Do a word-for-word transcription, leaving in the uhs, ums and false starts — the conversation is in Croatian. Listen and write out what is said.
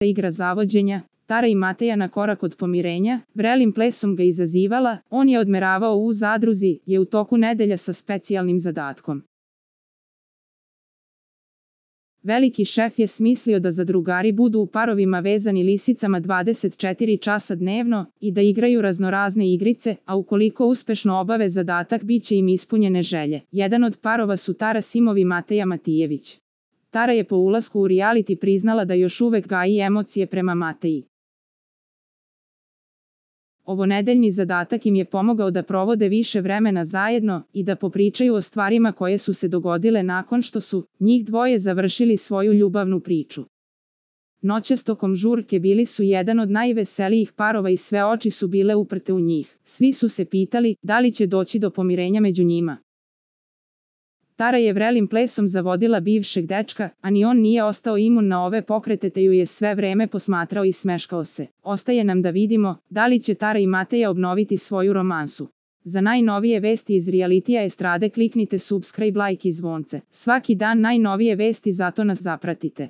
igra zavođenja, Tara i Mateja na korak od pomirenja, vrelim plesom ga izazivala, on je odmeravao u zadruzi, je u toku nedelja sa specijalnim zadatkom. Veliki šef je smislio da zadrugari budu u parovima vezani lisicama dvadeset četiri časa dnevno i da igraju raznorazne igrice, a ukoliko uspešno obave zadatak bit će im ispunjene želje. Jedan od parova su Tara Simov i Mateja Matijević. Tara je po ulasku u reality priznala da još uvek gaji emocije prema Mateji. Ovo nedeljni zadatak im je pomogao da provode više vremena zajedno i da popričaju o stvarima koje su se dogodile nakon što su njih dvoje završili svoju ljubavnu priču. Noćas tokom žurke bili su jedan od najveselijih parova i sve oči su bile uprte u njih. Svi su se pitali da li će doći do pomirenja među njima. Tara je vrelim plesom zavodila bivšeg dečka, a ni on nije ostao imun na ove pokrete te ju je sve vreme posmatrao i smeškao se. Ostaje nam da vidimo da li će Tara i Mateja obnoviti svoju romansu. Za najnovije vesti iz realitija estrade kliknite subscribe, like i zvonce. Svaki dan najnovije vesti, zato nas zapratite.